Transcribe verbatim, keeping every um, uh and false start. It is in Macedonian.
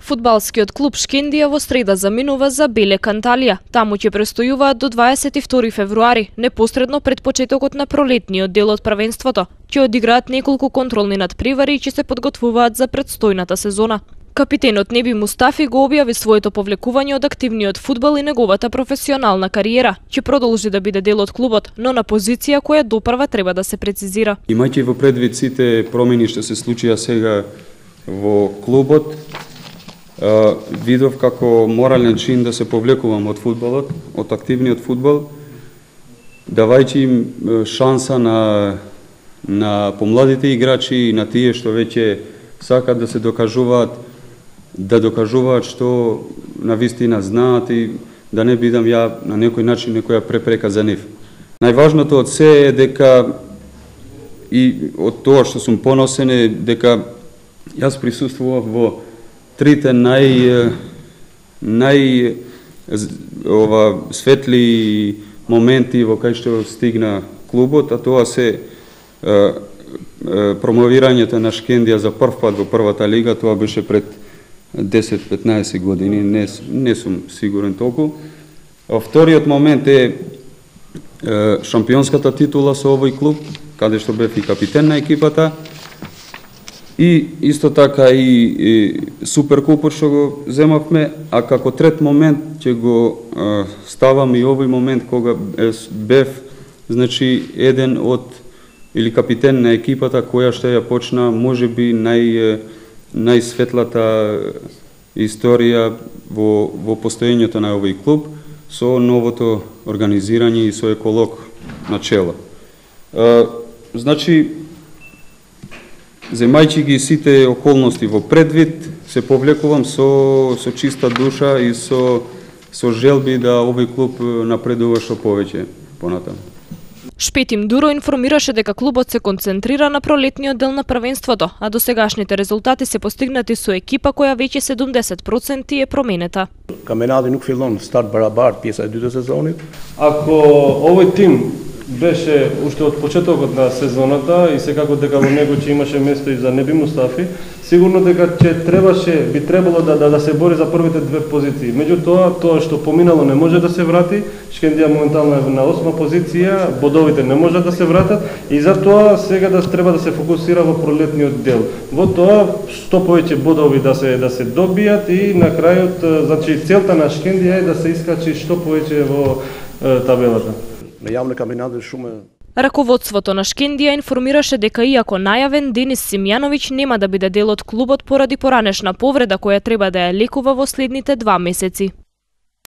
Фудбалскиот клуб Шкендија во среда заминува за Белек Анталија. Таму ќе престојуваат до дваесет и втори февруари, непосредно пред почетокот на пролетниот дел од првенството. Ќе одиграат неколку контролни надпревари и ќе се подготвуваат за предстојната сезона. Капитенот Неби Мустафи го објави своето повлекување од активниот фудбал и неговата професионална кариера. Ќе продолжи да биде дел од клубот, но на позиција која допрва треба да се прецизира. Имајќи во предвид сите промени што се случија сега во клубот, Uh, видов како морален чин да се повлекувам од фудбалот, од активниот фудбал, давајќи им шанса на, на помладите играчи и на тие што веќе сакат да се докажуваат, да докажуваат што на вистина знаат и да не бидам ја на некој начин некоја препрека за нив. Најважното од се е дека и од тоа што сум поносен е дека јас присуствував во трите нај нај ова светли моменти во кај што стигна клубот, а тоа се е, е, промовирањето на Шкендија за прв пат во првата лига. Тоа беше пред десет-петнаесет години, не, не сум сигурен толку. А вториот момент е, е шампионската титула со овој клуб, каде што бев и капитен на екипата. И исто така и, и суперкупот што го земавме, а како трет момент ќе го а, ставам и овој момент кога бев, значи, еден од или капитен на екипата која што ја почна можеби нај најсветлата историја во во постоењето на овој клуб со новото организирање и со еколог на чело. А, значи, земајќи ги сите околности во предвид, се повлекувам со со чиста душа и со со желби да овој клуб напредува што повеќе понатаму. Шпетим Дуро информираше дека клубот се концентрира на пролетниот дел на првенството, а досегашните резултати се постигнати со екипа која веќе седумдесет проценти е променета. Каменadi nuk fillon start barabar pjesa e dytë e sezonit. Ако овој тим беше уште од почетокот на сезоната и секако дека во него ќе имаше место и за Неби Мустафи, сигурно дека ќе требаше, би требало да, да, да се бори за првите две позиции. Меѓутоа, тоа што поминало не може да се врати, Шкендија моментално е на осма позиција, бодовите не можат да се вратат и затоа сега да треба да се фокусира во пролетниот дел. Во тоа што повеќе бодови да се да се добијат и на крајот, значи целта на Шкендија е да се искачи што повеќе во е, табелата. Раководството на Шкендија информираше дека иако најавен, Денис Симјановиќ нема да биде дел од клубот поради поранешна повреда која треба да ја лекува во следните два месеци.